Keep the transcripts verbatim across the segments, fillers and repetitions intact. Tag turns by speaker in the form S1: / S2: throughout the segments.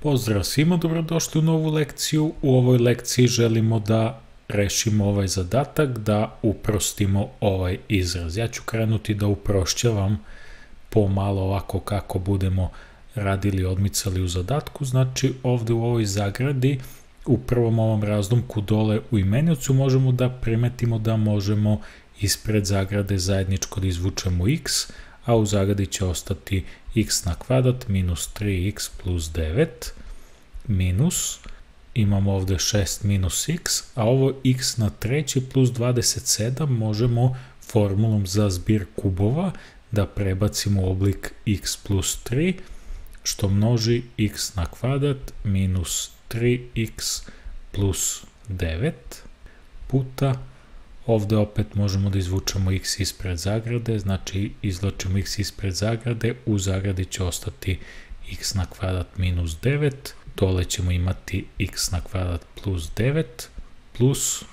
S1: Pozdrav svima, dobrodošli u novu lekciju. U ovoj lekciji želimo da rešimo ovaj zadatak, da uprostimo ovaj izraz. Ja ću krenuti da uprošćavam pomalo ovako kako budemo radili, odmicali u zadatku. Znači ovde u ovoj zagradi, u prvom ovom razlomku dole u imeniocu možemo da primetimo da možemo ispred zagrade zajedničko da izvučemo x, a u zagradi će ostati x na kvadrat minus tri x plus devet minus, imamo ovde šest minus x, a ovo x na treći plus dvadeset sedam možemo formulom za zbir kubova da prebacimo u oblik x plus tri, što množi x na kvadrat minus tri x plus devet puta, ovde opet možemo da izvučemo x ispred zagrade, znači izvlačimo x ispred zagrade, u zagradi će ostati x na kvadrat minus devet, dole ćemo imati x na kvadrat plus devet, plus,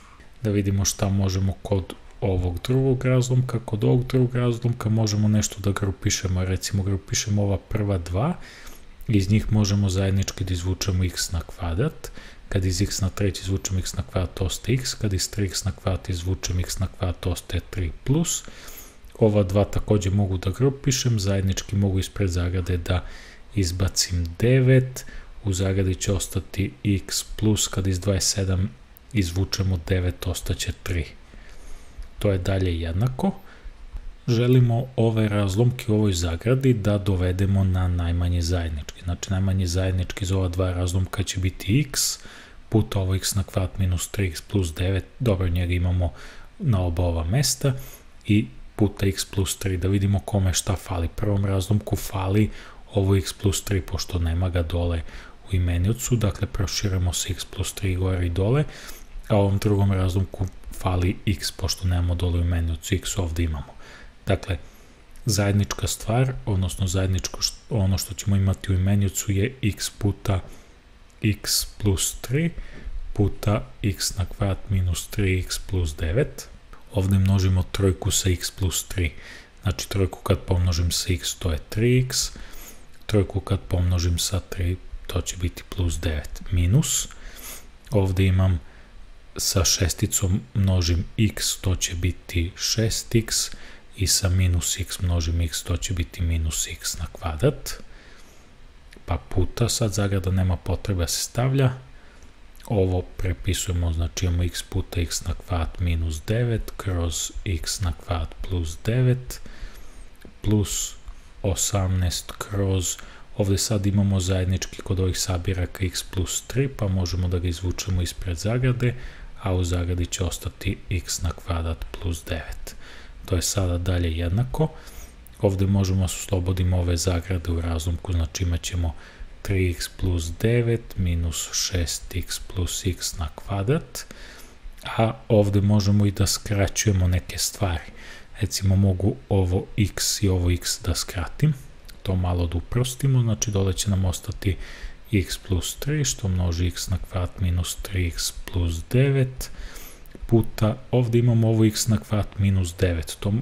S1: da vidimo šta možemo kod ovog drugog razlomka, kod ovog drugog razlomka možemo nešto da grupišemo, recimo grupišemo ova prva dva, iz njih možemo zajednički da izvučemo x na kvadrat, kad iz x na treći izvučemo x na kvadrat ostaje x, kad iz tri x na kvadrat izvučemo x na kvadrat ostaje tri plus, ova dva takođe mogu da grupišem, zajednički mogu ispred zagrade da izbacim devet, u zagradi će ostati x plus, kad iz dvadeset sedam izvučemo devet ostaće tri. To je dalje jednako. Želimo ove razlomke u ovoj zagradi da dovedemo na najmanji zajednički. Znači najmanji zajednički za ova dva razlomka će biti x puta ovo x na kvadrat minus tri x plus devet, dobro, njega imamo na oba ova mesta, i puta x plus tri, da vidimo kome šta fali. Prvom razlomku fali ovo x plus tri, pošto nema ga dole u imeniocu, dakle proširamo se x plus tri gore i dole, a ovom drugom razlomku fali x, pošto nemamo dole u imeniocu, x ovde imamo. Dakle, zajednička stvar, odnosno zajedničko ono što ćemo imati u imeniocu je x puta x plus tri puta x na kvadrat minus tri x plus devet. Ovde množimo trojku sa x plus tri. Znači trojku kad pomnožim sa x to je tri x, trojku kad pomnožim sa tri to će biti plus devet minus. Ovde imam sa šesticom množim x, to će biti šest x, i sa minus x množim x, to će biti minus x na kvadrat, pa puta, sad zagrada nema potrebe da se stavlja, ovo prepisujemo, znači imamo x puta x na kvadrat minus devet kroz x na kvadrat plus devet plus osamnaest kroz, ovde sad imamo zajednički kod ovih sabiraka x plus tri, pa možemo da ga izvučemo ispred zagrade, a u zagradi će ostati x na kvadrat plus devet. To je sada dalje jednako. Ovde možemo da oslobodimo ove zagrade u razlomku, znači imat ćemo tri x plus devet minus šest x plus x na kvadrat, a ovde možemo i da skraćujemo neke stvari. Recimo mogu ovo x i ovo x da skratim, to malo da uprostimo, znači dole će nam ostati x plus tri, što množi x na kvadrat minus tri x plus devet, puta, ovde imamo ovo x na kvadrat minus devet, to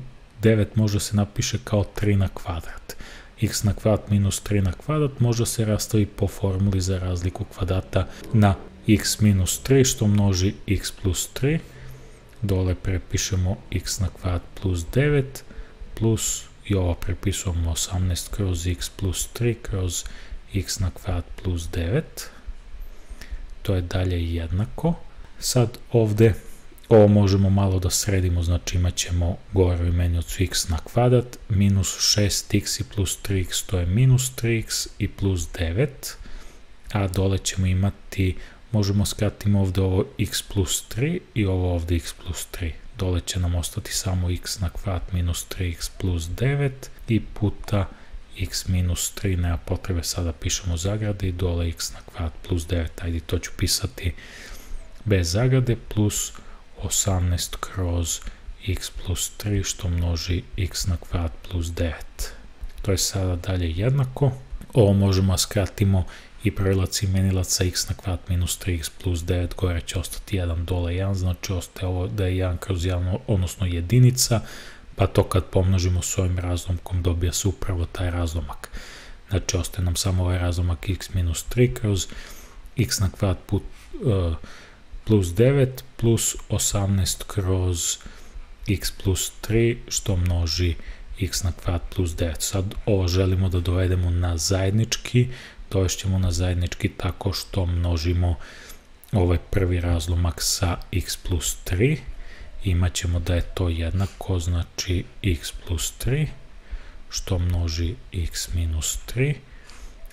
S1: devet može se napiše kao tri na kvadrat. X na kvadrat minus tri na kvadrat može se rastavi po formuli za razliku kvadrata na x minus tri, što množi x plus tri, dole prepišemo x na kvadrat plus devet, plus i ovo prepisujemo osamnaest kroz x plus tri kroz x na kvadrat plus devet, to je dalje jednako. Sad ovde ovo možemo malo da sredimo, znači imat ćemo gore u imeniocu x na kvadrat minus šest x i plus tri x, to je minus tri x i plus devet, a dole ćemo imati, možemo skratiti ovde ovo x plus tri i ovo ovde x plus tri. Dole će nam ostati samo x na kvadrat minus tri x plus devet i puta x minus tri, nema potrebe sada pišemo zagrade, i dole x na kvadrat plus devet, ajde to ću pisati bez zagrade, plus osamnaest kroz x plus tri, što množi x na kvadrat plus devet. To je sada dalje jednako. Ovo možemo skratimo i prelac imenilaca x na kvadrat minus tri x plus devet, gore će ostati jedan, dole jedan, znači ostaje ovo da je jedan kroz jedan, odnosno jedinica, pa to kad pomnožimo s ovim razlomkom dobija se upravo taj razlomak. Znači, ostaje nam samo ovaj razlomak x minus tri kroz x na kvadrat put, uh, plus devet plus osamnaest kroz x plus tri što množi x na kvadrat plus devet. Sad ovo želimo da dovedemo na zajednički, dovešćemo na zajednički tako što množimo ovaj prvi razlomak sa x plus tri. Imaćemo da je to jednako, znači x plus tri što množi x minus tri,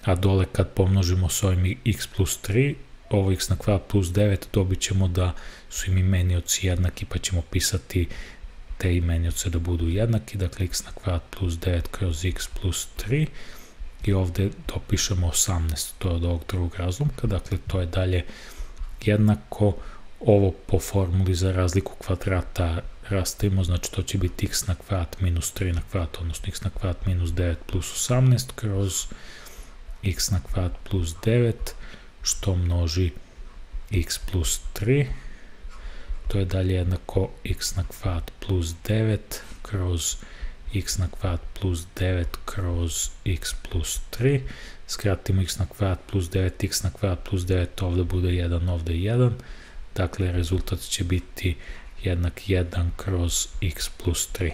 S1: a dole kad pomnožimo s ovim x plus tri, ovo x na kvadrat plus devet, dobit ćemo da su im imenioci jednaki, pa ćemo pisati te imenioce da budu jednaki, dakle x na kvadrat plus devet kroz x plus tri i ovdje dopišemo osamnaest, to je od ovog drugog razlomka, dakle to je dalje jednako. Ovo po formuli za razliku kvadrata rastavimo, znači to će biti x na kvadrat minus tri na kvadrat, odnosno x na kvadrat minus devet plus osamnaest kroz x na kvadrat plus devet što množi x plus tri. To je dalje jednako x na kvadrat plus devet kroz x na kvadrat plus devet kroz x plus tri. Skratimo x na kvadrat plus devet, x na kvadrat plus devet, ovdje bude jedan, ovdje jedan. Dakle, rezultat će biti jednak jedan kroz x plus tri.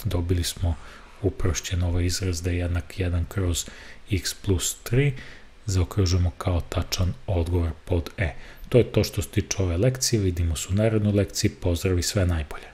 S1: Dobili smo uprošćen ovaj izraz da je jednak jedan kroz x plus tri. Zaokružujemo kao tačan odgovor pod E. To je to što se tiče ove lekcije. Vidimo se u narednoj lekciji. Pozdrav i sve najbolje.